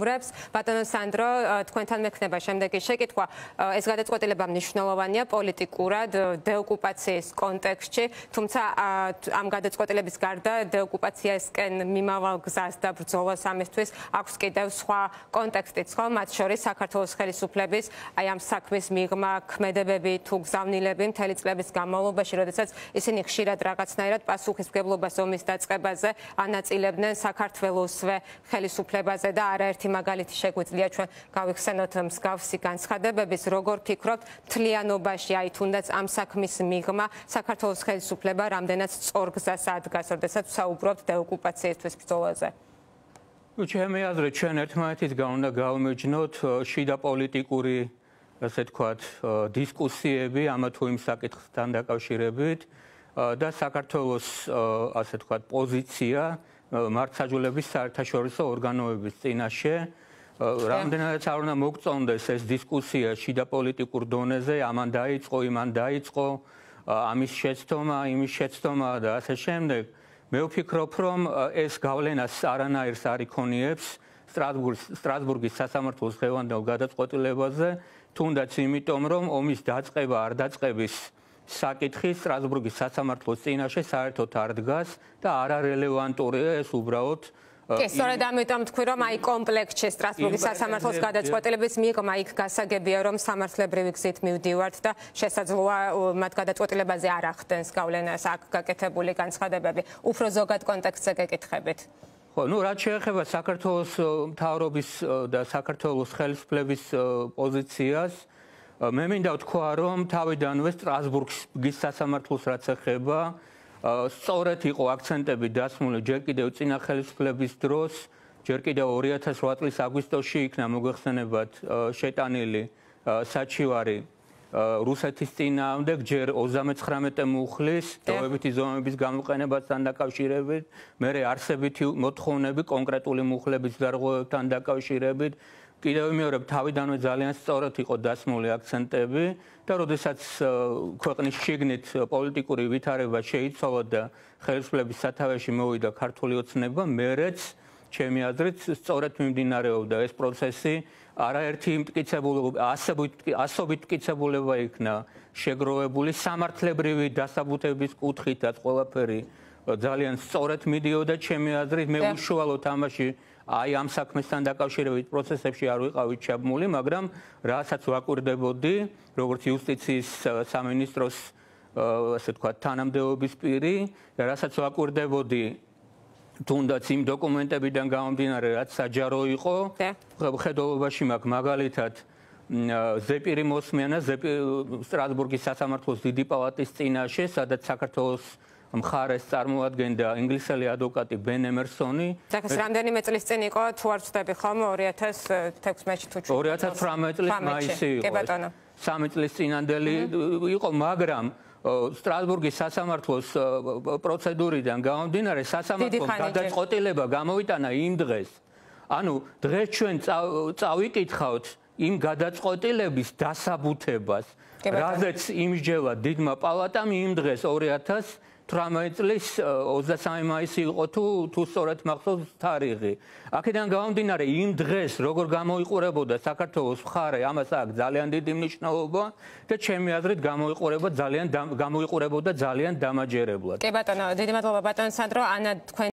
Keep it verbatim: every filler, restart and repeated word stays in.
ბატონო სანდრო, თქვენთან მექნება შემდეგი შეკითხვა. ეს გადაწყვეტილება მნიშვნელოვანია პოლიტიკურად დეოკუპაციის კონტექსტში, თუმცა ამ გადაწყვეტილების გარდა დეოკუპაციისკენ მიმავალ გზას და ბრძოლას ამისთვის აქვს კიდევ სხვა კონტექსტიც, ხო? მათ შორის საქართველოს ხელისუფლების აი ამ საქმის მიღმა, ქმედებები თუ გზავნილები მთელი წლების განმავლობაში, როდესაც ისინი ხშირად რაღაცნაირად პასუხისმგებლობას ომის დაწყებაზე ანაწილებდნენ საქართველოსვე ხელისუფლებაზე და არაერთი მაგალითი შეგვიძლია ჩვენ გავიხსენოთ მსგავსი განცხადებების, როგორ ფიქრობთ მთლიანობაში, აი თუნდაც ამ საქმის მიღმა საქართველოს ხელისუფლება რამდენად სწორ გზას ადგას, როდესაც საუბრობთ დეოკუპაციისთვის ბრძოლაზე? ჩემი აზრით, ჩვენ ერთმანეთისგან უნდა გავიმეჯნოთ შიდა პოლიტიკური, ასე თქვათ, დისკუსიები ამა თუ იმ საკითხთან დაკავშირებით და საქართველოს, ასე თქვათ, პოზიცია მართლმსაჯულების საერთაშორისო ორგანოების წინაშე. რამდენადაც არ უნდა მოგწონდეს ეს დისკუსია შიდა პოლიტიკურ დონეზე, ამან დაიწყო, იმან დაიწყო, ამის შეცდომა, იმის შეცდომა და ასე შემდეგ. მე ვფიქრობ, რომ ეს გავლენას არანაირს არ იქონიებს სტრასბურგის სასამართლოს დღევანდელ გადაწყვეტილებაზე, თუნდაც იმიტომ, რომ ომის დაწყება არ დაწყების საკითხი სტრასბურგის სასამართლოს წინაშე საერთოდ არ დგას და არარელევანტურია ეს უბრალოდ. კი, სწორედ ამიტომ თქვი, რომ აი კომპლექტში სტრასბურგის სასამართლოს გადაწყვეტილების მიღმა იქ გასაგებია, რომ სამართლებრივი გზით მივდივართ და შესაძლოა მათ გადაწყვეტილებაზე არ ახდენს გავლენას აქ გაკეთებული განცხადებები. უფრო ზოგად კონტექსტზე გეკითხებით. ხო, ну, რაც შეეხება საქართველოს მთავრობის და საქართველოს ხელისუფლების პოზიციას, მე მინდა ვთქვა, რომ თავიდანვე სტრასბურგის სასამართლოს რაც ეხება, სწორედ იყო აქცენტები დასმული ჯერ კიდევ წინა ხელისუფლების დროს, ჯერ კიდევ ორი ათას რვა წლის აგვისტოში იქნა მოგეხსენებათ შეტანილი საჩივარი რუსეთის წინააღმდეგ, ჯერ ოცდამეცხრამეტე მუხლის დროებითი ზომების გამოყენებასთან დაკავშირებით, მერე არსებითი მოთხოვნები კონკრეტული მუხლების დარღვევებთან დაკავშირებით. კიდევ მეორე თავიდანვე ძალიან სწორად იყო დასმული აქცენტები და როდესაც ქვეყნის შიგნით პოლიტიკური ვითარება შეიცვალა და ხელისუფლების სათავეში მოვიდა ქართული ოცნება, მერეც ჩემი აზრით სწორად მიმდინარეობდა ეს პროცესი, არაერთი მტკიცებულება, ასობით მტკიცებულება იქნა შეგროვებული, სამართლებრივი დასაბუთების კუთხითაც ყველაფერი ძალიან სწორად მიდიოდა ჩემი აზრით, მე უშუალოდ ამაში აი ამ საქმესთან დაკავშირებით პროცესებში არ ვიყავით ჩაბმული, მაგრამ რასაც ვაკვირდებოდი, როგორც იუსტიციის სამინისტროს, ასე ვთქვათ, თანამდებობის პირი, რასაც ვაკვირდებოდი თუნდაც იმ დოკუმენტებიდან გამომდინარე, რაც საჯარო იყო, ხედულობაში მაქვს მაგალითად ზეპირი მოსმენა სტრასბურგის სასამართლოს დიდი პალატის წინაშე, სადაც საქართველოს მხარეს წარმოადგენდა ინგლისელი ადვოკატი ბენ ემერსონი. ეს რამდენიმე წლის წინ იყო, თუ არ ვცდები ხომ, ორი ათას თექვსმეტში თუ ორი ათას ცხრამეტ წლის მაისი იყო. სამი წლის წინანდელი იყო, მაგრამ სტრასბურგის სასამართლოს პროცედურიდან გამომდინარე, სასამართლოს გადაწყვეტილება გამოვიტანა იმ დღეს. ანუ დღეს ჩვენ წავიკითხავთ იმ გადაწყვეტილების დასაბუთებას, რაზეც იმსჯელა დიდმა პალატამ იმ დღეს ორი ათას ცხრამეტ წლის ოცდასამი მაისი იყო თუ თუ სწორად მახსოვს თარიღი. აქედან გამომდინარე იმ დღეს როგორ გამოიყურებოდა საქართველოს მხარე, ამას აქვს ძალიან დიდი მნიშვნელობა და ჩემი აზრით გამოიყურება ძალიან გამოიყურებოდა ძალიან დამაჯერებლად. კი ბატონო, დიდი მადლობა ბატონო სანდრო, ანა თქვენ